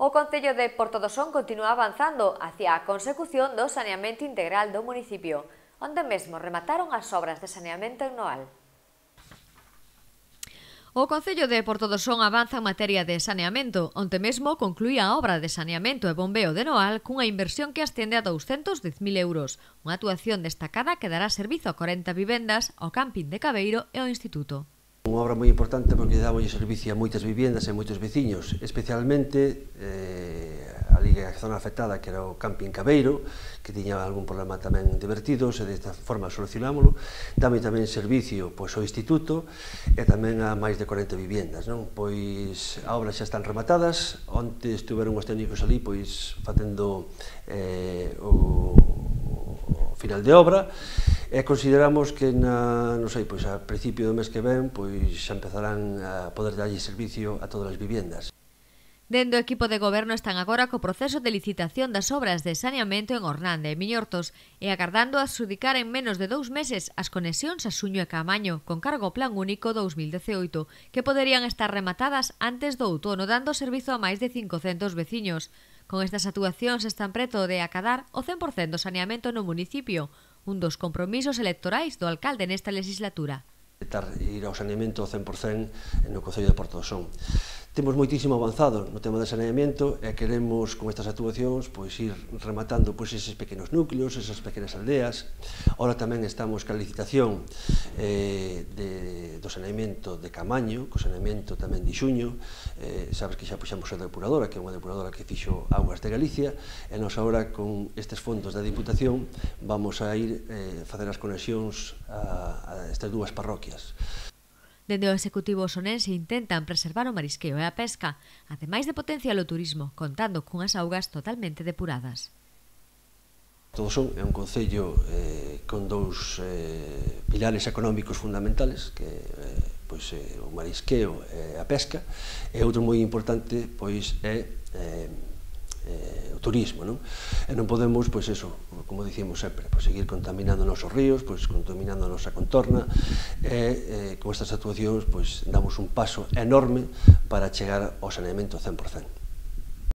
O Concello de Portodosón continúa avanzando hacia a consecución do saneamento integral do municipio, onde mesmo remataron as obras de saneamento en Noal. O Concello de Portodosón avanza en materia de saneamento, onde mesmo concluía a obra de saneamento e bombeo de Noal cunha inversión que ascende a 210.000 euros, unha actuación destacada que dará servizo a 40 vivendas, ao camping de Cabeiro e ao Instituto. Unha obra moi importante porque dámolle servicio a moitas vivendas e a moitos veciños, especialmente ali a zona afectada que era o camping Cabeiro, que tiña algún problema tamén de vertidos e desta forma solucionámolo. Dame tamén servicio ao Instituto e tamén a máis de 40 vivendas. Pois as obras xa están rematadas, onte estuveron os técnicos ali facendo o final de obra, e consideramos que a principio do mes que ven xa empezarán a poder darlle servicio a todas as vivendas. Dende o equipo de goberno están agora co proceso de licitación das obras de saneamento en Ornande e Miñortos e agardando adxudicar en menos de 2 meses as conexións a Suño e Caamaño con cargo Plan Único 2018, que poderían estar rematadas antes do outono, dando servizo a máis de 500 veciños. Con estas actuacións están preto de acadar o 100% do saneamento no municipio, un dos compromisos electorais do alcalde nesta legislatura. Ir ao saneamento ao 100% no Concello de Portodosón. Temos moitísimo avanzado no tema do saneamento e queremos con estas actuacións ir rematando eses pequenos núcleos, esas pequenas aldeas. Ahora tamén estamos ca licitación do saneamento de Caamaño, co saneamento tamén de Xuño. Sabes que xa puxamos a depuradora, que é unha depuradora que fixo Augas de Galicia, e nos agora con estes fondos da Diputación vamos a ir facer as conexións a estas dúas parroquias. Dende o Executivo osonense intentan preservar o marisqueo e a pesca, ademais de potenciar o turismo, contando cunhas augas totalmente depuradas. Portodosón é un concello con dous pilares económicos fundamentales, que é o marisqueo e a pesca, e outro moi importante é o turismo, e non podemos, como dicimos sempre, seguir contaminando os nosos ríos, contaminando a nosa contorna, e con estas actuacións damos un paso enorme para chegar ao saneamento 100%.